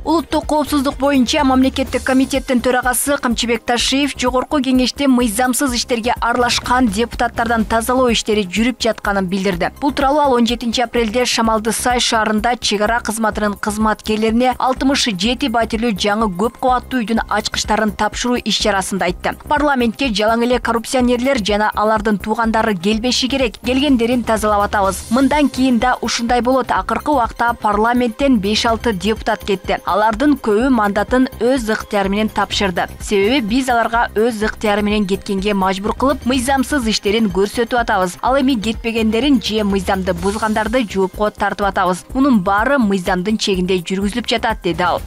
Улуттук коопсуздук боюнча мамлекеттик комитеттин төрагасы Камчыбек Ташиев жогорку кеңеште мыйзамсыз иштерге аралашкан депутаттардан тазалоо иштери жүрүп жатканын билдирди. Бул тууралуу ал 17 апрелде Шамалды Сай шаарында чек ара кызматынын кызматкерлерине 67 батирлүү жаңы көп кабаттуу үйдүн ачкычтарын тапшыруу иш-чарасында айтты. Парламентке жалаң эле коррупционерлер жана алардын туугандары келбеши керек. Келгендерин тазалап атабыз. Мындан кийин да ушундай болот. Акыркы убакта парламенттен 5-6 депутат кетти. Алардын көбү мандатын өз ыктыяры менен тапшырды. Себеби биз аларга өз ыктыяры менен кеткенге мажбур кылып, мыйзамсыз иштерин көрсөтүп атабыз. Ал эми кетпегендерин же мыйзамды бузгандарды жоопко тартып атабыз. Мунун баары мыйзамдын чегинде жүргүзүлүп жатат, деди ал.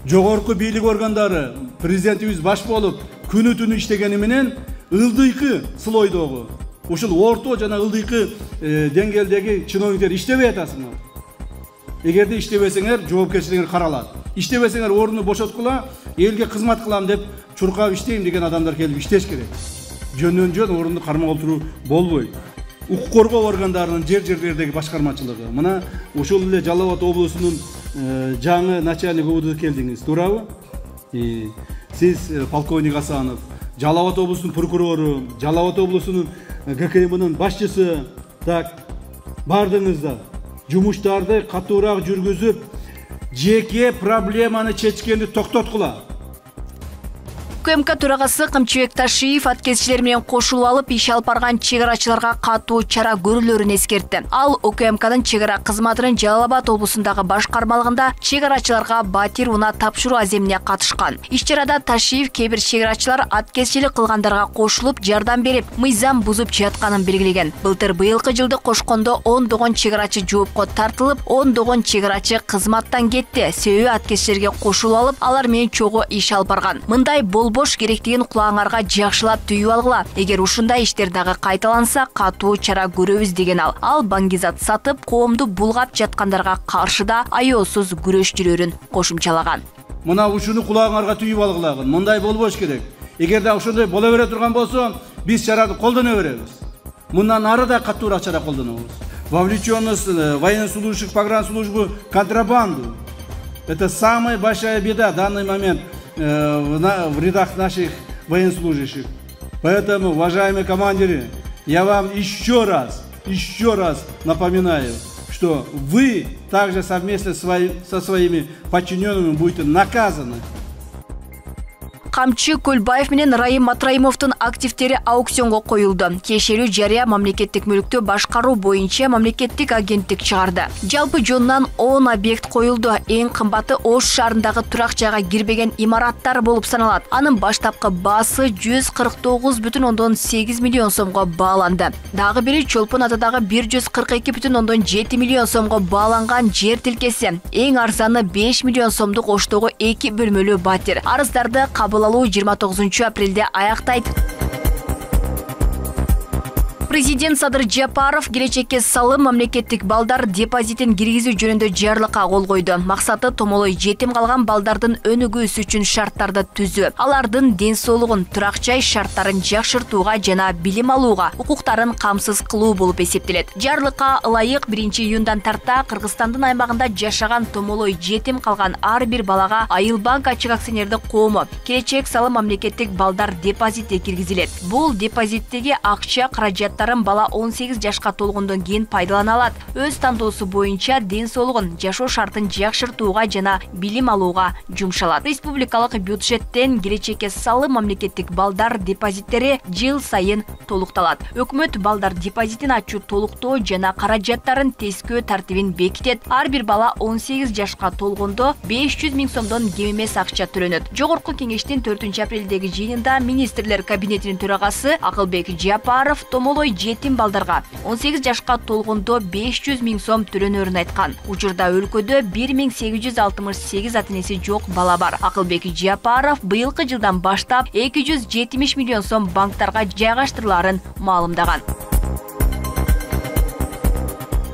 Жогорку бийлик органдары президентибиз баш болуп күнү-түнү иштегени менен ылдыйкы слойдогу ушул орто жана ылдыйкы деңгээлдеги чиновниктер иштебей атасыңар. Эгерде иштебесеңер, жоопкерчилигиңер каралат. Иштебесеңер, орунду бошоткула, элге кызмат кылам деп чуркап иштейм деген адамдар келип иштеш керек. Жөн орунду кармап отуруу болбойт. Укук коргоо органдарынын жерлердеги башкармачылыгы. Мына ушул эле Жалал Абад облусунун жаңы начальник УВД келдиңиз, туурабы? Сиз полковник Асанов, Жалал Абад облусунун прокурору, Жалал Абад облусунун ГКМнын башчысы, так бардыңыздар. Жумуштарды катуураак жүргүзүп, жеке проблеманы чечкенди токтоткула. УКМК төрагасы Камчыбек Ташиев аткезчилер менен кошулуп алып иш алып барган чек арачыларга катуу чара көрүлөрүн эскертти. Ал УКМКнын чек ара кызматынын Жалал Абад облусундагы башкармалыгында чек арачыларга батир унаа тапшыруу аземине катышкан. Иш-чарада Ташиев кээ бир чек арачылар аткезчилик кылгандарга кошулуп жардам берип, мыйзам бузуп жатканын белгилеген. Былтыр быйылкы жылды кошкондо ондогон чек арачы жоопко тартылып, ондогон чек арачы кызматтан кетти. Себеби аткезчилерге кошулуп алып, алар менен чогуу иш алып барган. Мындай болбош керектигин кулаңарга жакшылап түйүп алгыла. Эгер ушундай иштер дагы кайталанса, катуу чара көрөбүз, деген ал. Ал баңгизат сатып, коомду булгап жаткандарга каршы да аеосуз күрөш жүрөрүн кошумчалаган. Мына ушуну кулаңарга түйүп алгылагын. Мындай болбош керек. Эгерде ошондой боло бере турган болсо, биз чараны колдоно беребиз. Мындан ары да катуураак чара колдонобуз. Вовлеченность военнослужащих погранслужбы в контрабанду. Это самая большая беда в данный момент в рядах наших военнослужащих. Поэтому, уважаемые командиры, я вам еще раз напоминаю, что вы также совместно со своими подчиненными будете наказаны. Камчы Көлбаев менен Райым Матраимовдун активдери аукционго коюлду. Кешелүү жарыя мамлекеттик мүлктү башкаруу боюнча мамлекеттик агенттик чыгарды. Жалпы жонунан 10 объект коюлду. Эң кымбаты Ош шаарындагы турак жайга кирбеген имараттар болуп саналат. Анын баштапкы баасы 149,8 миллион сомго бааланды. Дагы бири Чолпон атадагы 142,7 миллион сомго бааланган жер тилкеси. Эң арзаны 5 миллион сомдук Оштогу 2 бөлмөлүү батир. Арыздарды кабыл алуу 29 апрелде аяктайт. Президент Садыр Жапаров келечекке салым мамлекеттик балдар депозитин киргизүү жөнүндө жарлыкка кол койду. Максаты томолой жетим калган балдардын өнүгүүсү үчүн шарттарды түзүү, алардын ден соолугун, турак жай шарттарын жакшыртууга жана билим алууга укуктарын камсыз кылуу болуп эсептелет. Жарлыкка ылайык 1-июндан тарта Кыргызстандын аймагында жашаган томолой жетим калган ар бир балага Айылбанк ачык акционердик коому келечек салым мамлекеттик балдар депозити киргизилет. Бул депозиттеги акча каражат бала 18 жашка толгондон кийин пайдалана алат. Өз тандоосу боюнча ден соолугун, жашоо шартын жакшыртууга жана билим алууга жумшалат. Республикалык бюджеттен келечекке салым мамлекеттик балдар депозиттери жыл сайын толукталат. Өкмөт балдар депозитин ачуу, толуктоо жана каражаттарын тескөө тартибин бекитет. Ар бир бала 18 жашка толгондо 500 000 сомдон кем эмес акча төлөнөт. Жогорку кеңештин 4 апрелдеги жыйынында министрлер кабинетинин төрагасы Акылбек Жапаров томолой жетим балдарга 18 жашка толгондо 500 000 сом төлөнөрүн айткан. Учурда өлкөдө 1868 ата-энеси жок бала бар. Акылбек Жапаров быйылкы жылдан баштап 270 миллион сом банктарга жайгаштырыларын маалымдаган.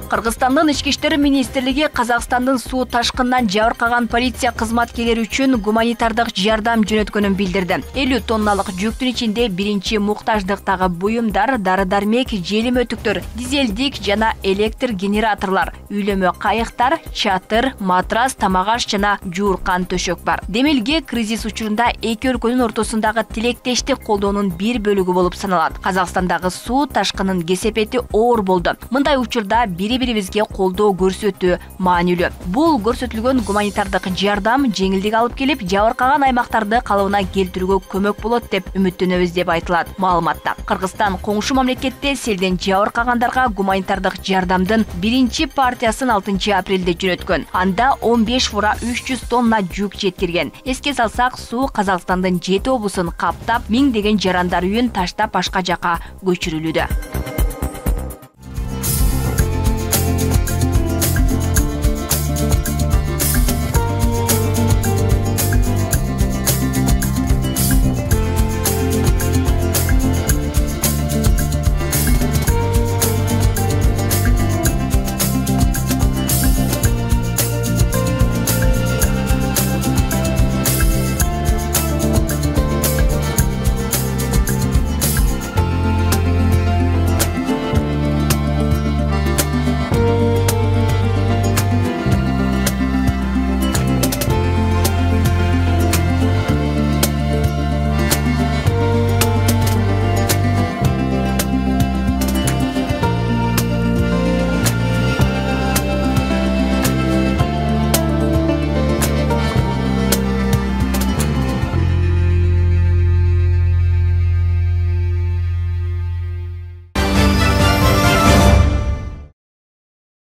Кыргызстандын Ички иштер министрлиги Казакстандын суу ташкынынан жабыркаган полиция кызматкерлери үчүн гуманитардык жардам жөнөткөнүн билдирди. 50 тонналык жүктүн ичинде биринчи муктаждыктагы буюмдар, дары-дармек, желим өтүктөр, дизелдик жана электр генераторлор, үйлөмө кайыктар, чатыр, матрас, тамак-аш жана жууркан төшөк бар. Демилге кризис учурунда эки өлкөнүн ортосундагы тилектештик колдоонун бир бөлүгү болуп саналат. Казакстандагы суу ташкынын кесепети оор болду. Мындай учурда бири-бирибизге колдоо көрсөтүү маанилүү. Бул көрсөтүлгөн гуманитардык жардам жеңилдик алып келип, жабыркаган аймактарды калыбына келтирүүгө көмөк болот деп үмүттөнөбүз деп айтылат маалыматта. Кыргызстан коңшу мамлекетте селден жабыркагандарга гуманитардык жардамдын биринчи партиясын 6 апрелде жөнөткөн. Анда 15,300 тонна жүк жеткирген. Эске салсак, суу Казакстандын 7 облусун каптап, миңдеген жарандар үйүн таштап башка жака көчүрүлүүдө.